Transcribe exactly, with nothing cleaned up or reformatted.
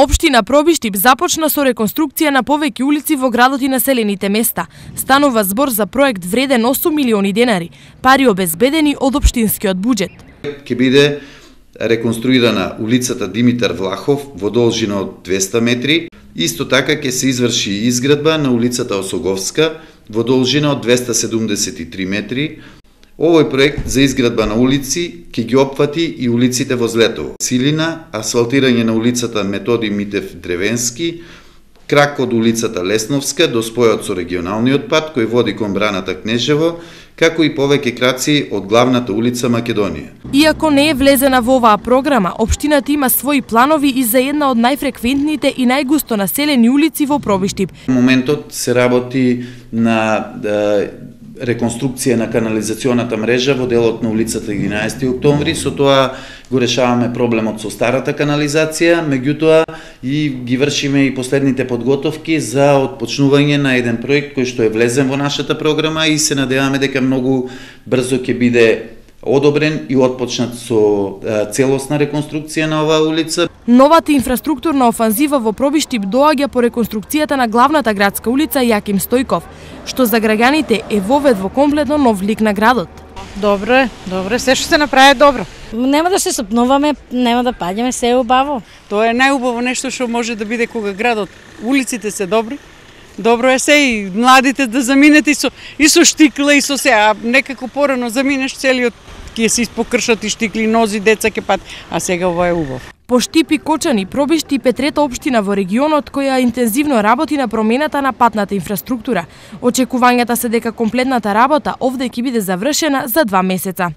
Општина Пробиштип започна со реконструкција на повеќе улици во градот и населените места. Станува збор за проект вреден осум милиони денари, пари обезбедени од општинскиот буџет. Ќе биде реконструирана улицата Димитар Влахов во должина од двесте метри. Исто така ќе се изврши изградба на улицата Осоговска во должина од двесте седумдесет и три метри. Овој проект за изградба на улици ќе ги опфати и улиците во Злетово. Силина, асфалтирање на улицата Методи Митев Древенски, крак од улицата Лесновска до спојот со регионалниот пат кој води кон браната Кнежево, како и повеќе краци од главната улица Македонија. Иако не е влезена во оваа програма, општината има своји планови и за една од најфреквентните и најгусто населени улици во Пробиштип. Во моментот се работи на да, реконструкција на канализационата мрежа во делот на улицата единаесети октомври, со тоа го решаваме проблемот со старата канализација, меѓутоа и ги вршиме и последните подготовки за отпочнување на еден проект кој што е влезен во нашата програма и се надеваме дека многу брзо ќе биде одобрен и отпочнат со целосна реконструкција на оваа улица. Новата инфраструктурна офанзива во Пробиштип доаѓа по реконструкцијата на главната градска улица Јаким Стојков, што за граѓаните е вовед во комплетно нов лик на градот. Добро е, добро е, се што се направи добро. Нема да се сопнуваме, нема да паѓаме, се е убаво. Тоа е најубаво нешто што може да биде кога градот, улиците се добри. Добро е се и младите да заминете и со, и со штикла и со се, а некако порано заминеш целиот ќе се испокршат и штикли, нози, деца ќе пат, а сега ова е убав. По Штип и Кочани, Пробиштип е трета општина во регионот која интензивно работи на промената на патната инфраструктура. Очекувањата се дека комплетната работа овде ќе биде завршена за два месеца.